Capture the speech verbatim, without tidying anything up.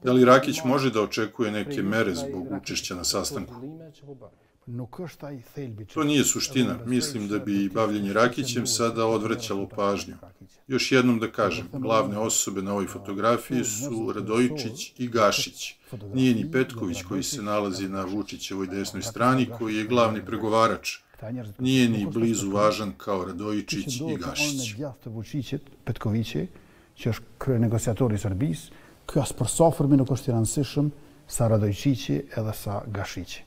Da li Rakić može da očekuje neke mere zbog učešća na sastanku? To nije suština. Mislim da bi bavljenje Rakićem sada odvraćalo pažnju. Još jednom da kažem, glavne osobe na ovoj fotografiji su Radojičić i Gašić. Nije ni Petković koji se nalazi na Vučićevoj desnoj strani, koji je glavni pregovarač. Nije ni blizu važan kao Radojičić i Gašić. Që është krye negociatori i Serbisë, ky as për sa fërmi nuk është i rëndësishëm sa Radojqiqi edhe sa Gashiqi.